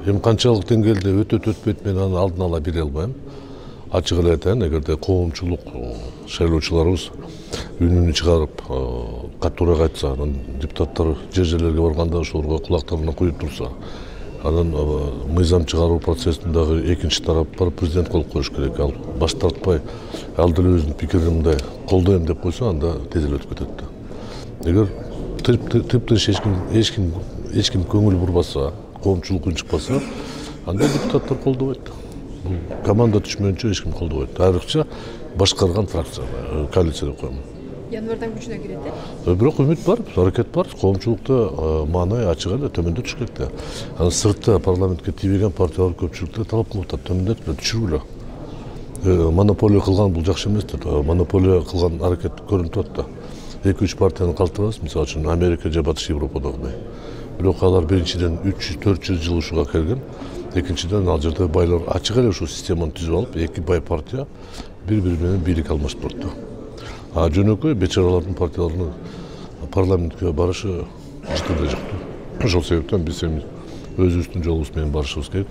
Эми канчалык деңгээлде өтөт өтпөйт мен аны алдын ала бере албайм. Ачык эле айтайын, эгерде коомчулук шайлоочуларыбыз үнүн чыгарып, катуураак айтса, анан депутаттар жерлерге барганда ошолорго кулактарына куюп турса, анан мыйзам чыгаруу процессин дагы экинчи тарап бар президент кылып коюш керек. Ал баш тартпай, ал деле өзүнүн пикирин мындай колдойм деп койсо, анда тез эле өтүп кетет да. Эгер тыптыш эч ким көңүл бурбаса, коомчулук үн чыкпаса, анда депутаттар колдобойт. Бул команда түшмөйүнчө эч ким колдобойт. Айрыкча башкарган фракция, коалиция деп коем. Январдан күчүнө кирет э? Бирок үмүт бар, аракет бар. Коомчулукта маанай ачык эле төмөндө түшүш керек да. Анан сыртта парламентке тийбеген партиялар көпчүлүктө талап кылып атат, төмөндөтпү, түшүргүлө. Монополия кылган бул жакшы эмес деп, монополия кылган аракет көрүнүп атат да. 2-3 партияны калтырабыз, мисалы үчүн Америка же Батыш Европадагыдай. Бирок алар биринчиден 300-400 жыл ушуга келген. Экинчиден ал жерде байлар ачык эле ушул системаны түзүп алып, эки бай партия бири-бири менен бийлик алмашып турат да. Жөнөкөй бечаралардын партияларынын парламентке барышы эч кандай жок. Ошол себептен биз эми өзүбүздүн жолубуз менен барышыбыз керек.